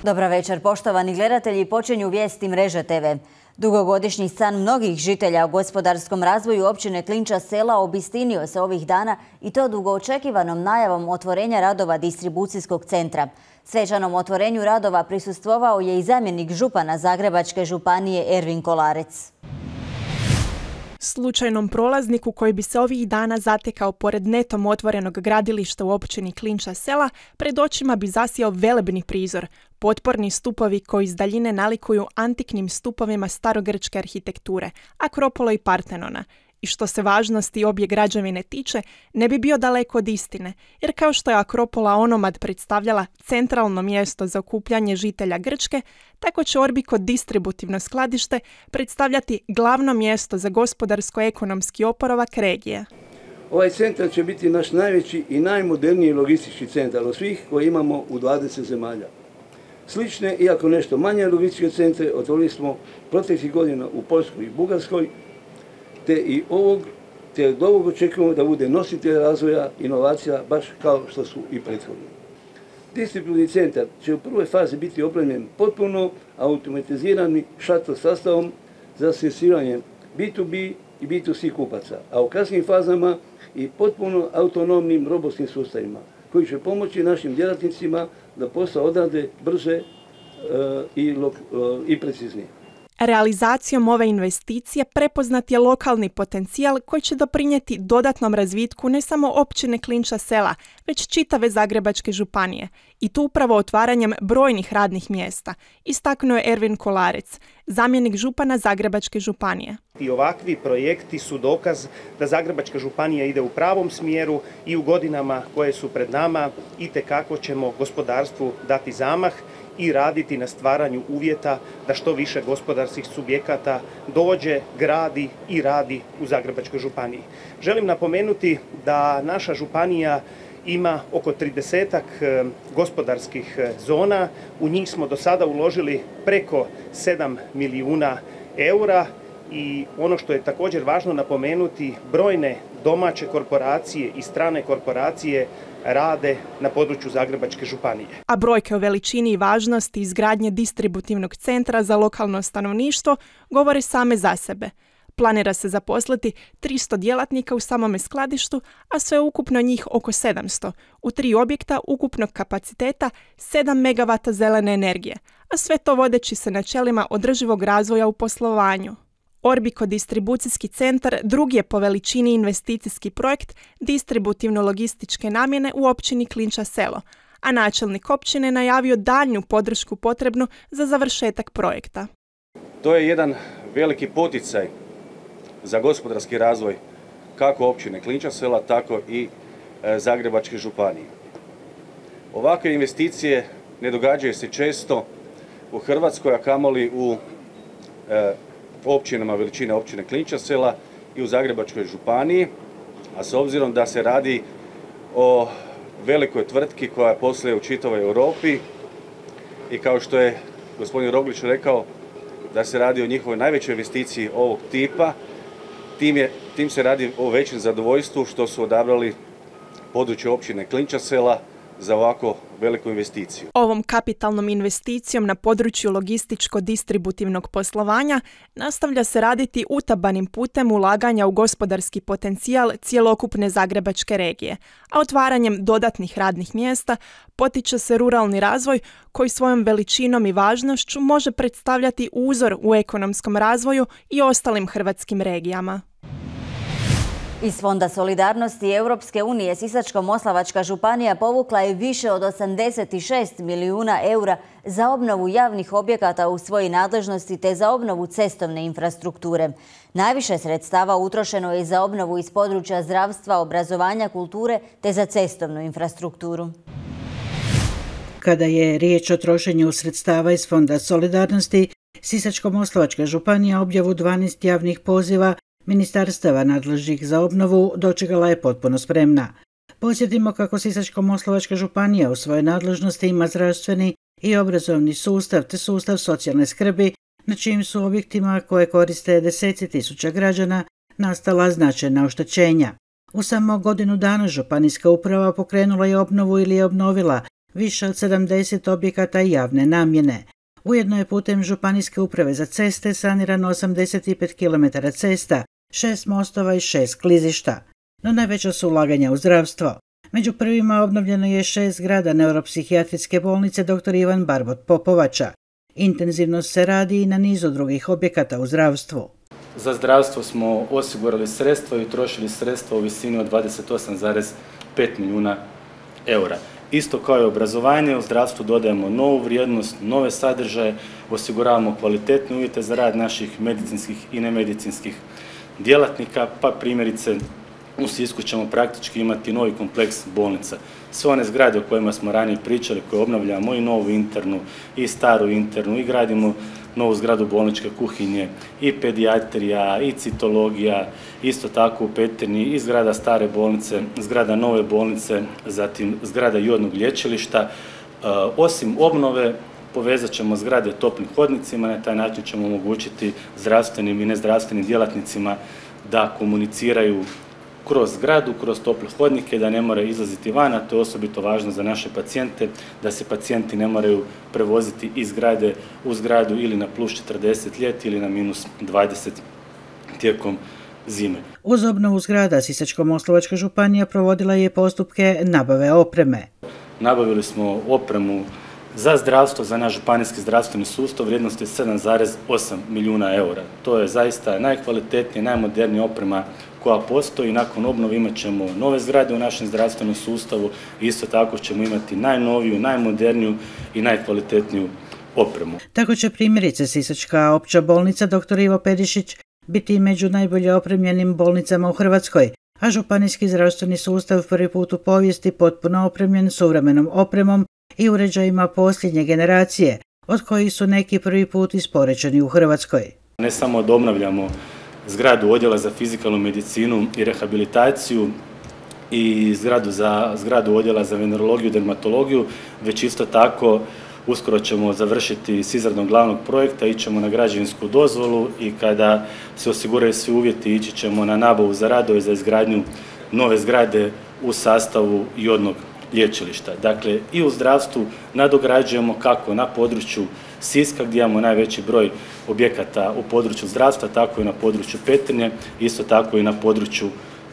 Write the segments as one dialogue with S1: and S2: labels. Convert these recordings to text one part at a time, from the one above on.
S1: Dobra večer, poštovani gledatelji, počinju vijesti Mreže TV. Dugogodišnji san mnogih žitelja u gospodarskom razvoju općine Klinča sela obistinio se ovih dana i to dugoočekivanom najavom otvorenja radova distribucijskog centra. Svečanom otvorenju radova prisustvovao je i zamjenik župana Zagrebačke županije Ervin Kolarec.
S2: Slučajnom prolazniku koji bi se ovih dana zatekao pored netom otvorenog gradilišta u općini Klinča sela, pred očima bi zasjao velebni prizor. Potporni stupovi koji iz daljine nalikuju antiknim stupovima starogrčke arhitekture, Akropola i Partenona. I što se važnosti obje građevine tiče, ne bi bio daleko od istine, jer kao što je Akropola onomad predstavljala centralno mjesto za okupljanje žitelja Grčke, tako će Orbiko distributivno skladište predstavljati glavno mjesto za gospodarsko-ekonomski oporavak regije.
S3: Ovaj centar će biti naš najveći i najmoderniji logistički centar od svih koje imamo u 20 zemalja. Slične, iako nešto manje logističke centre, otvorili smo proteklih godina u Poljskoj i Bugarskoj, te od ovog očekujemo da bude nositelj razvoja inovacija baš kao što su i prethodni. Distributivni centar će u prvoj fazi biti opremljen potpuno automatiziranim shuttle sastavom za servisiranje B2B i B2C kupaca, a u kasnijim fazama i potpuno autonomnim robotskim sustavima koji će pomoći našim djelatnicima da posao odrade brže i preciznije.
S2: Realizacijom ove investicije prepoznat je lokalni potencijal koji će doprinijeti dodatnom razvitku ne samo općine Klinča sela, već čitave Zagrebačke županije. I tu upravo otvaranjem brojnih radnih mjesta, istaknuo je Ervin Kolarec, zamjenik župana Zagrebačke županije.
S4: I ovakvi projekti su dokaz da Zagrebačka županija ide u pravom smjeru i u godinama koje su pred nama itekako ćemo gospodarstvu dati zamah i raditi na stvaranju uvjeta da što više gospodarskih subjekata dođe, gradi i radi u Zagrebačkoj županiji. Želim napomenuti da naša županija ima oko 30-ak gospodarskih zona, u njih smo do sada uložili preko 7 milijuna eura i ono što je također važno napomenuti, brojne domaće korporacije i strane korporacije rade na području Zagrebačke županije.
S2: A brojke o veličini i važnosti izgradnje distributivnog centra za lokalno stanovništvo govore same za sebe. Planira se zaposliti 300 djelatnika u samome skladištu, a sve ukupno njih oko 700, u 3 objekta ukupnog kapaciteta 7 megavata zelene energije, a sve to vodeći se načelima održivog razvoja u poslovanju. Orbiko distribucijski centar drugi je po veličini investicijski projekt distributivno-logističke namjene u općini Klinča selo, a načelnik općine najavio daljnju podršku potrebnu za završetak projekta.
S5: To je jedan veliki poticaj za gospodarski razvoj kako općine Klinča sela, tako i Zagrebačke županije. Ovakve investicije ne događaju se često u Hrvatskoj, a kamoli u općinama veličine općine Klinča sela i u Zagrebačkoj županiji, a s obzirom da se radi o velikoj tvrtki koja posluje u čitavoj Europi i kao što je gospodin Roglić rekao da se radi o njihovoj najvećoj investiciji ovog tipa, tim se radi o većem zadovoljstvu što su odabrali područje općine Klinča sela za ovako veliku investiciju.
S2: Ovom kapitalnom investicijom na području logističko-distributivnog poslovanja nastavlja se raditi utabanim putem ulaganja u gospodarski potencijal cjelokupne Zagrebačke regije, a otvaranjem dodatnih radnih mjesta potiče se ruralni razvoj koji svojom veličinom i važnošću može predstavljati uzor u ekonomskom razvoju i ostalim hrvatskim regijama.
S1: Iz Fonda solidarnosti Europske unije Sisačko-moslavačka županija povukla je više od 86 milijuna eura za obnovu javnih objekata u svojoj nadležnosti te za obnovu cestovne infrastrukture. Najviše sredstava utrošeno je za obnovu iz područja zdravstva, obrazovanja, kulture te za cestovnu infrastrukturu.
S6: Kada je riječ o trošenju sredstava iz Fonda solidarnosti, Sisačko-moslavačka županija objavu 12 javnih poziva ministarstava nadležnih za obnovu dočekala je potpuno spremna. Podsjetimo kako Sisačko-moslavačka županija u svojoj nadležnosti ima zdravstveni i obrazovni sustav te sustav socijalne skrbi, na čijim su objektima koje koriste deseci tisuća građana nastala značajna oštećenja. U samo godinu dana županijska uprava pokrenula je obnovu ili je obnovila više od 70 objekata javne namjene. Ujedno je putem Županijske uprave za ceste sanirano 85 km cesta, 6 mostova i 6 klizišta. No najveća su ulaganja u zdravstvo. Među prvima obnovljeno je 6 zgrada neuropsihijatrijske bolnice dr. Ivan Barbot Popovača. Intenzivno se radi i na nizu drugih objekata u zdravstvu.
S7: Za zdravstvo smo osigurali sredstva i utrošili sredstva u visini od 28,5 milijuna eura. Isto kao i obrazovanje, u zdravstvu dodajemo novu vrijednost, nove sadržaje, osiguravamo kvalitetne uvjete za rad naših medicinskih i nemedicinskih djelatnika, pa primjerice u Sisku ćemo praktički imati novi kompleks bolnica. Sve one zgrade o kojima smo ranije pričali, koje obnavljamo i novu internu i staru internu i gradimo novu zgradu bolničke kuhinje i pedijatrija i citologija, isto tako u Petrinji i zgrada stare bolnice, zgrada nove bolnice, zatim zgrada jodnog lječilišta. Osim obnove, povezat ćemo zgrade toplim hodnicima, na taj način ćemo omogućiti zdravstvenim i nezdravstvenim djelatnicima da komuniciraju kroz zgradu, kroz tople hodnike, da ne moraju izlaziti van, a to je osobito važno za naše pacijente, da se pacijenti ne moraju prevoziti iz zgrade u zgradu ili na plus 40 ljeti ili na minus 20 tijekom zime.
S6: Uz obnovu zgrada Sisačko-moslavačka županija provodila je postupke nabave opreme.
S7: Nabavili smo opremu za zdravstvo, za naš županijski zdravstveni sustav vrijednosti 7,8 milijuna eura. To je zaista najkvalitetnija, najmodernija oprema koja postoji. Nakon obnove imat ćemo nove zgrade u našem zdravstvenom sustavu i isto tako ćemo imati najnoviju, najmoderniju i najkvalitetniju opremu.
S6: Tako će primjerice Sisačka opća bolnica dr. Ivo Perišić biti među najbolje opremljenim bolnicama u Hrvatskoj, a županijski zdravstveni sustav prvi put u povijesti potpuno opremljen suvremenom opremom i uređajima posljednje generacije, od kojih su neki prvi put isporučeni u Hrvatskoj.
S7: Ne samo da obnavljamo zgradu odjela za fizikalnu medicinu i rehabilitaciju i zgradu odjela za venerologiju i dermatologiju, već isto tako uskoro ćemo završiti s izradom glavnog projekta, ićemo na građevinsku dozvolu i kada se osiguraju svi uvjeti ići ćemo na nabavu za radove za izgradnju nove zgrade u sastavu jodnog lječilišta. Dakle, i u zdravstvu nadograđujemo kako na području Siska gdje imamo najveći broj objekata u području zdravstva, tako i na području Petrinje, isto tako i na području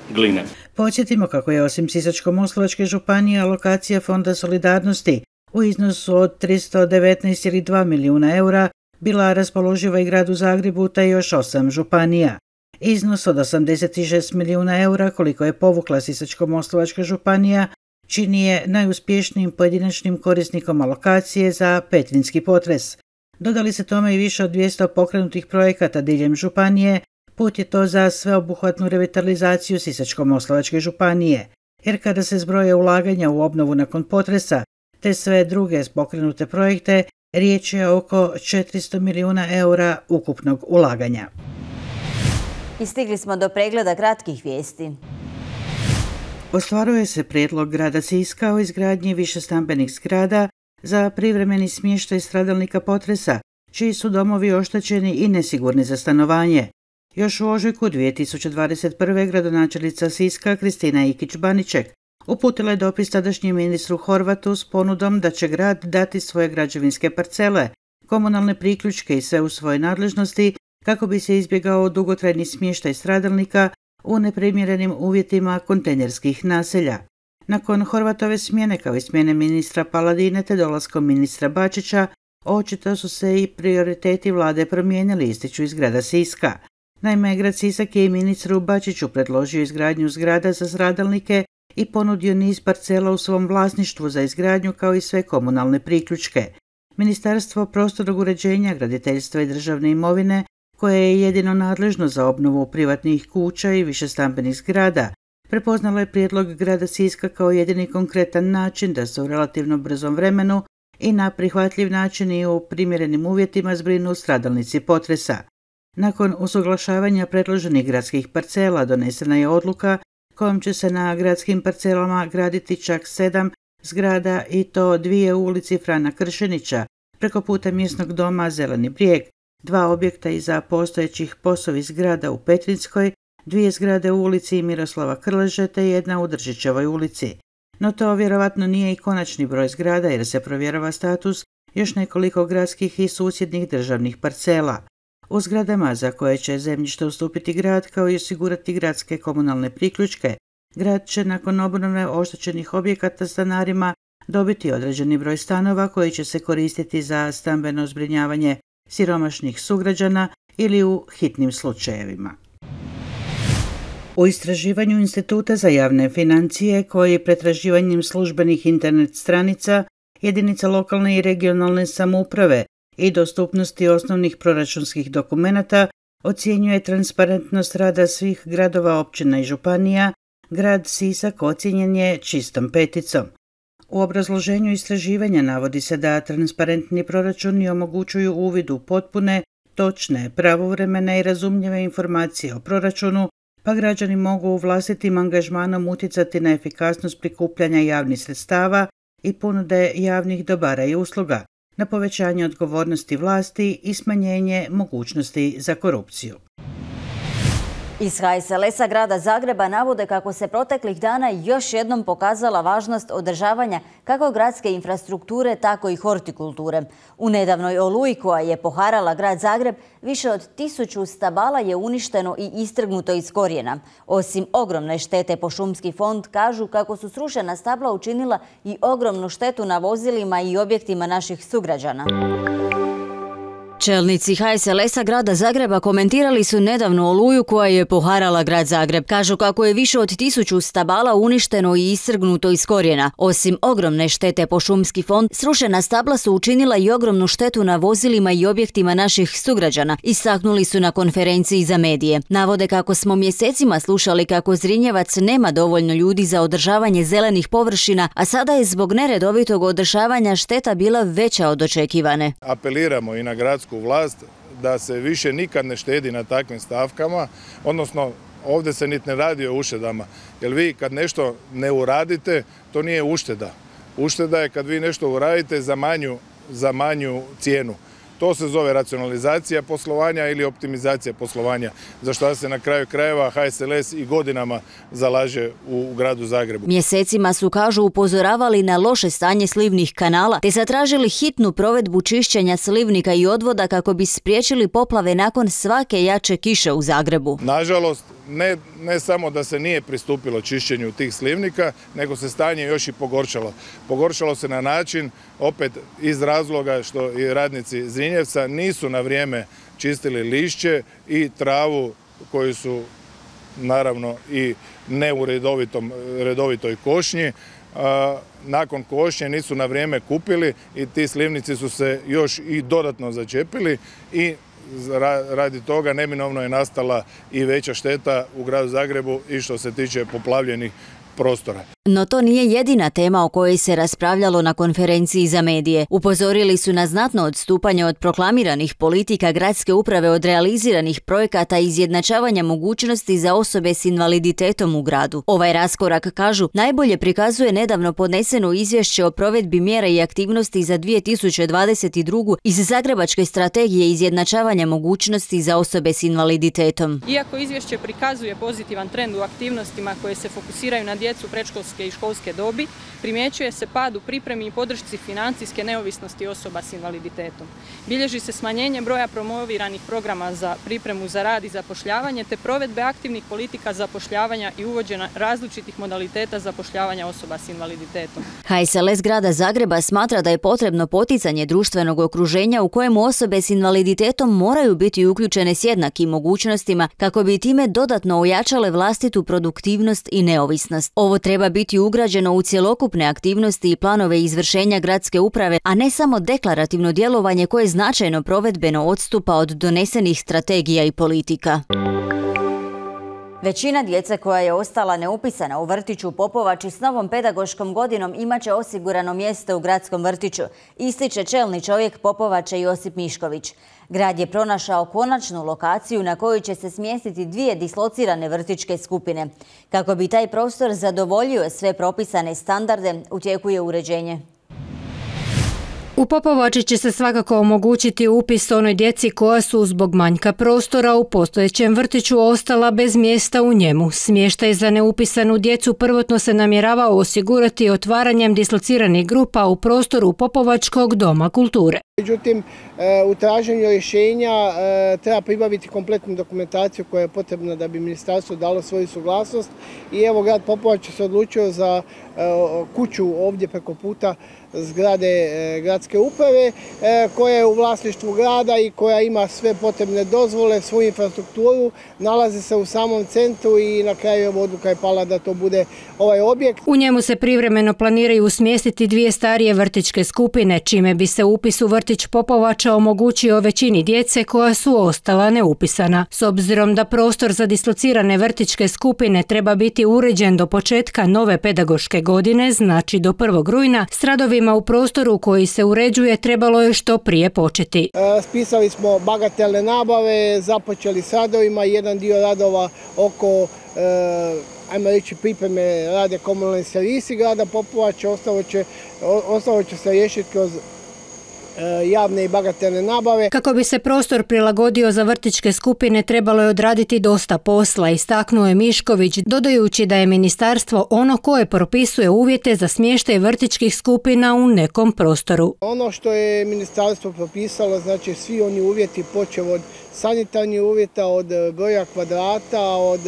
S7: Gline.
S6: Podsjetimo kako je osim Sisačko-moslavačke županije alokacija Fonda solidarnosti u iznosu od 319,2 milijuna eura bila raspoloživa i gradu Zagrebu te još 8 županija. Iznos od 86 milijuna eura koliko je povukla Sisačko-moslavačka županija čini je najuspješnijim pojedinačnim korisnikom alokacije za petrinjski potres. Dodali se tome i više od 200 pokrenutih projekata diljem županije, put je to za sveobuhvatnu revitalizaciju Sisačko-moslavačke županije, jer kada se zbroje ulaganja u obnovu nakon potresa, te sve druge pokrenute projekte, riječ je oko 400 milijuna eura ukupnog ulaganja.
S1: I stigli smo do pregleda kratkih vijesti.
S6: Ostvaruje se prijedlog grada Siska o izgradnji višestambenih zgrada za privremeni smještaj stradalnika potresa, čiji su domovi oštećeni i nesigurni za stanovanje. Još u ožujku 2021. gradonačelnica Siska Kristina Ikić-Baniček uputila je dopis tadašnjem ministru Horvatu s ponudom da će grad dati svoje građevinske parcele, komunalne priključke i sve u svojoj nadležnosti kako bi se izbjegao dugotrajni smještaj stradalnika u neprimjerenim uvjetima kontejnerskih naselja. Nakon Horvatove smjene kao i smjene ministra Paladine te dolaskom ministra Bačića, očito su se i prioriteti vlade promijenili, ističu iz grada Siska. Naime, grad Sisak je i ministru Bačiću predložio izgradnju zgrada za stradalnike i ponudio niz parcela u svom vlasništvu za izgradnju kao i sve komunalne priključke. Ministarstvo prostornog uređenja, graditeljstva i državne imovine, koje je jedino nadležno za obnovu privatnih kuća i višestambenih zgrada, prepoznalo je prijedlog grada Siska kao jedini konkretan način da se u relativno brzom vremenu i na prihvatljiv način i u primjerenim uvjetima zbrinu stradalnici potresa. Nakon usuglašavanja predloženih gradskih parcela donesena je odluka kojom će se na gradskim parcelama graditi čak 7 zgrada i to 2 u ulici Frana Kršenića, preko puta mjesnog doma Zeleni brijeg, 2 objekta iza postojećih POS-ovih zgrada u Petrinjskoj, 2 zgrade u ulici Miroslava Krleže te 1 u Držićevoj ulici. no to vjerovatno nije i konačni broj zgrada jer se provjerava status još nekoliko gradskih i susjednih državnih parcela. U zgradama za koje će zemljište ustupiti grad kao i osigurati gradske komunalne priključke, grad će nakon obnove oštećenih objekata stanarima dobiti određeni broj stanova koji će se koristiti za stambeno zbrinjavanje siromašnih sugrađana ili u hitnim slučajevima. U istraživanju Instituta za javne financije koji pretraživanjem službenih internet stranica jedinica lokalne i regionalne samouprave i dostupnosti osnovnih proračunskih dokumenata ocjenjuje transparentnost rada svih gradova, općina i županija, grad Sisak ocijenjen je čistom peticom. U obrazloženju istraživanja navodi se da transparentni proračuni omogućuju uvid u potpune, točne, pravovremene i razumljive informacije o proračunu, pa građani mogu vlastitim angažmanom utjecati na efikasnost prikupljanja javnih sredstava i ponude javnih dobara i usluga, na povećanje odgovornosti vlasti i smanjenje mogućnosti za korupciju.
S1: Iz HSLS-a grada Zagreba navode kako se proteklih dana još jednom pokazala važnost održavanja kako gradske infrastrukture, tako i hortikulture. U nedavnoj oluji koja je poharala grad Zagreb, više od 1000 stabala je uništeno i istrgnuto iz korijena. Osim ogromne štete po šumski fond, kažu kako su srušena stabla učinila i ogromnu štetu na vozilima i objektima naših sugrađana. Čelnici HSLS-a grada Zagreba komentirali su nedavnu oluju koja je poharala grad Zagreb. Kažu kako je više od 1000 stabala uništeno i istrgnuto iz korijena. Osim ogromne štete po šumski fond, srušena stabla su učinila i ogromnu štetu na vozilima i objektima naših sugrađana, istaknuli su na konferenciji za medije. Navode kako smo mjesecima slušali kako Zrinjevac nema dovoljno ljudi za održavanje zelenih površina, a sada je zbog neredovitog održavanja šteta bila veća od očekivane.
S8: Apeliramo i na gradsku vlast da se više nikad ne štedi na takvim stavkama, odnosno ovdje se niti ne radi o uštedama, jer vi kad nešto ne uradite, to nije ušteda. Ušteda je kad vi nešto uradite za manju cijenu. To se zove racionalizacija poslovanja ili optimizacija poslovanja, za što se na kraju krajeva HSLS i godinama zalaže u gradu Zagrebu.
S1: Mjesecima su, kažu, upozoravali na loše stanje slivnih kanala te zatražili hitnu provedbu čišćenja slivnika i odvoda kako bi spriječili poplave nakon svake jače kiše u Zagrebu.
S8: Nažalost, ne samo da se nije pristupilo čišćenju tih slivnika, nego se stanje još i pogoršalo. Pogoršalo se na način, opet iz razloga što i radnici Zrinjevca nisu na vrijeme čistili lišće i travu koju su naravno i ne u redovitoj košnji. Nakon košnje nisu na vrijeme kupili i ti slivnici su se još i dodatno začepili i radi toga neminovno je nastala i veća šteta u gradu Zagrebu i što se tiče poplavljenih prostora.
S1: No to nije jedina tema o kojoj se raspravljalo na konferenciji za medije. Upozorili su na znatno odstupanje od proklamiranih politika gradske uprave od realiziranih projekata i izjednačavanja mogućnosti za osobe s invaliditetom u gradu. Ovaj raskorak, kažu, najbolje prikazuje nedavno podneseno izvješće o provedbi mjera i aktivnosti za 2022. iz Zagrebačke strategije izjednačavanja mogućnosti za osobe s invaliditetom.
S9: Iako izvješće prikazuje pozitivan trend u aktivnostima koje se fokusiraju na djecu predškolske i školske dobi, primjećuje se pad u pripremi i podršci financijske neovisnosti osoba s invaliditetom. Bilježi se smanjenje broja promoviranih programa za pripremu za rad i zapošljavanje te provedbe aktivnih politika zapošljavanja i uvođenja različitih modaliteta zapošljavanja osoba s invaliditetom.
S1: HSLS grada Zagreba smatra da je potrebno poticanje društvenog okruženja u kojemu osobe s invaliditetom moraju biti uključene s jednakim mogućnostima kako bi time dodatno ojačale vlastitu produktivnost i neovisnost. Ovo treba biti ugrađeno u cjelokupne aktivnosti i planove izvršenja gradske uprave, a ne samo deklarativno djelovanje koje značajno provedbeno odstupa od donesenih strategija i politika. Većina djece koja je ostala neupisana u vrtiću Popovači s novom pedagoškom godinom imaće osigurano mjesto u gradskom vrtiću, ističe čelni čovjek Popovača Josip Mišković. Grad je pronašao konačnu lokaciju na kojoj će se smjestiti 2 dislocirane vrtićke skupine. Kako bi taj prostor zadovoljio sve propisane standarde, u tijeku je uređenje.
S10: U Popovači će se svakako omogućiti upis onoj djeci koja su zbog manjka prostora u postojećem vrtiću ostala bez mjesta u njemu. Smještaj za neupisanu djecu prvotno se namjeravao osigurati otvaranjem dislociranih grupa u prostoru Popovačkog doma kulture.
S11: Međutim, u traženju rješenja treba pribaviti kompletnu dokumentaciju koja je potrebna da bi ministarstvo dalo svoju suglasnost i evo grad Popovača se odlučio za kuću ovdje preko puta zgrade gradske uprave koja je u vlasništvu grada i koja ima sve potrebne dozvole, svoju infrastrukturu, nalazi se u samom centru i na kraju odluka je pala da to bude ovaj objekt.
S10: U njemu se privremeno planiraju smjestiti 2 starije vrtićke skupine, čime bi se upis u vrtić Popovača omogućio većini djece koja su ostala neupisana. S obzirom da prostor za dislocirane vrtićke skupine treba biti uređen do početka nove pedagoške godine, znači do 1. rujna, s radovima u prostoru koji se uređuje trebalo je što prije početi.
S11: Spisali smo bagatelne nabave, započeli s radovima, jedan dio radova oko ajmo reći pripreme rade komunalni servisi grada Popovača, ostalo će se riješiti kroz javne i bagatelne nabave.
S10: Kako bi se prostor prilagodio za vrtićke skupine trebalo je odraditi dosta posla, istaknuo je Mišković, dodajući da je ministarstvo ono koje propisuje uvjete za smještaj vrtićkih skupina u nekom prostoru.
S11: Ono što je ministarstvo propisalo, znači svi oni uvjeti počev od sanitarnih uvjeta, od broja kvadrata, od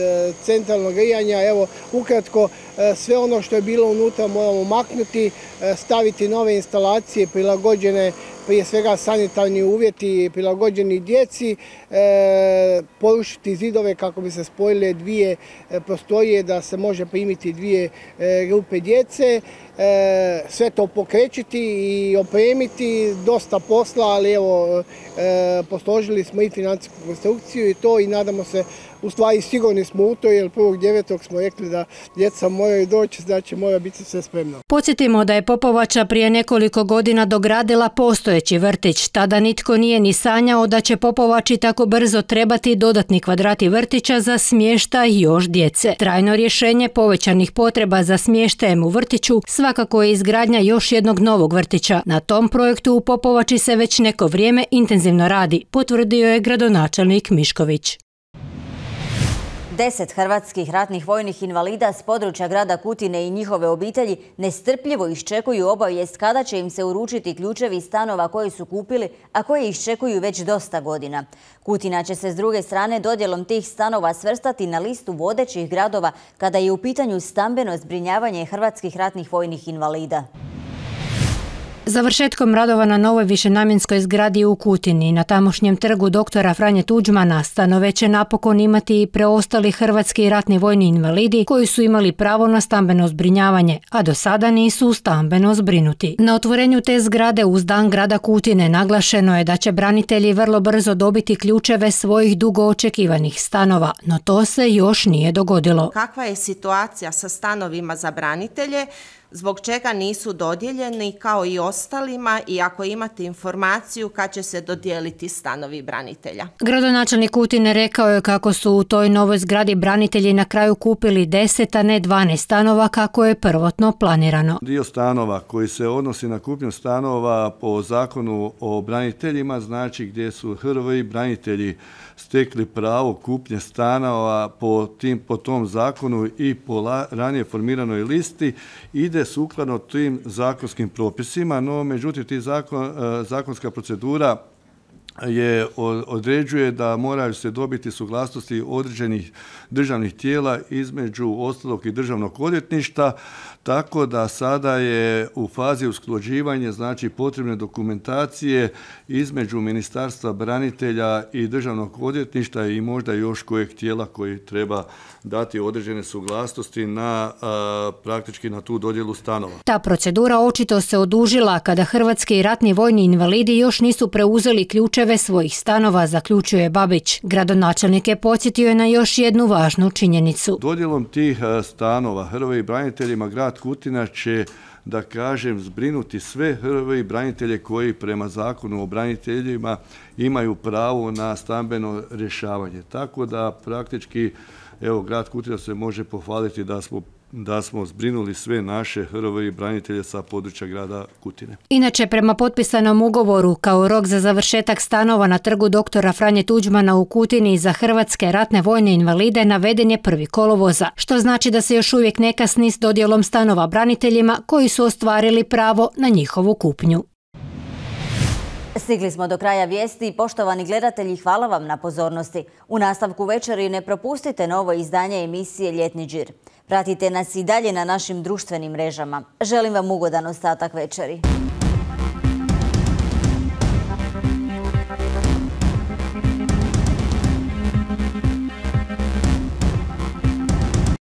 S11: centralnog grijanja, evo ukratko sve ono što je bilo unutra moramo maknuti, staviti nove instalacije prilagođene prije svega sanitarni uvjeti prilagođeni djeci, porušiti zidove kako bi se spojile 2 prostorije da se može primiti 2 grupe djece, sve to pokrećiti i opremiti, dosta posla, ali evo posložili smo i financijsku konstrukciju i to i nadamo se, u stvari sigurni smo u to jer 1.9. smo rekli da djeca moraju doći, znači mora biti sve spremno.
S10: Podsjetimo da je Popovača prije nekoliko godina dogradila postojeći vrtić. Tada nitko nije ni sanjao da će Popovači tako brzo trebati dodatni kvadrati vrtića za smještaj još djece. Trajno rješenje povećanih potreba za smještajem u vrtiću svakako je izgradnja još jednog novog vrtića. Na tom projektu u Popovači se već neko vrijeme intenzivno radi, potvrdio je gradonačelnik Mišković.
S1: 10 hrvatskih ratnih vojnih invalida s područja grada Kutine i njihove obitelji nestrpljivo iščekuju obavijest kada će im se uručiti ključevi stanova koje su kupili, a koje iščekuju već dosta godina. Kutina će se s druge strane dodjelom tih stanova svrstati na listu vodećih gradova kada je u pitanju stambeno zbrinjavanje hrvatskih ratnih vojnih invalida.
S10: Završetkom radova na novoj višenamjenskoj zgradi u Kutini na tamošnjem trgu doktora Franje Tuđmana stanove će napokon imati i preostali hrvatski ratni vojni invalidi koji su imali pravo na stambeno zbrinjavanje, a do sada nisu stambeno zbrinuti. Na otvorenju te zgrade uz dan grada Kutine naglašeno je da će branitelji vrlo brzo dobiti ključeve svojih dugo očekivanih stanova, no to se još nije dogodilo.
S12: Kakva je situacija sa stanovima za branitelje? Zbog čega nisu dodijeljeni kao i ostalima i ako imate informaciju kad će se dodijeliti stanovi branitelja?
S10: Gradonačelnik Kutine rekao je kako su u toj novoj zgradi branitelji na kraju kupili 10, a ne 12 stanova kako je prvotno planirano.
S13: Dio stanova koji se odnosi na kupnju stanova po zakonu o braniteljima, znači gdje su HRVI branitelji stekli pravo kupnje stanova po tom zakonu i po ranije formiranoj listi, ide sukladno tim zakonskim propisima, no međutim zakonska procedura određuje da moraju se dobiti suglasnosti određenih državnih tijela, između ostalog i državnog odvjetništva, tako da sada je u fazi usklađivanja, znači potrebne dokumentacije između Ministarstva branitelja i državnog odvjetništva i možda još kojeg tijela koji treba dati određene suglasnosti praktički na tu dodjelu stanova.
S10: Ta procedura očito se odužila kada hrvatski ratni vojni invalidi još nisu preuzeli ključeve svojih stanova, zaključuje Babić. Gradonačelnik je podsjetio na još jednu važnu činjenicu.
S13: Dodjelom tih stanova HRVI braniteljima grad Kutina će, da kažem, zbrinuti sve HRVI branitelje koji prema zakonu o braniteljima imaju pravo na stambeno rješavanje. Tako da praktički grad Kutina se može pohvaliti da smo da smo zbrinuli sve naše HRVI branitelje sa područja grada Kutine.
S10: Inače, prema potpisanom ugovoru, kao rok za završetak stanova na trgu doktora Franje Tuđmana u Kutini za hrvatske ratne vojne invalide naveden je 1. kolovoza, što znači da se još uvijek ne kasni s dodjelom stanova braniteljima koji su ostvarili pravo na njihovu kupnju.
S1: Stigli smo do kraja vijesti. Poštovani gledatelji, hvala vam na pozornosti. U nastavku večeri ne propustite novo izdanje emisije Ljetni džir. Pratite nas i dalje na našim društvenim mrežama. Želim vam ugodan ostatak večeri.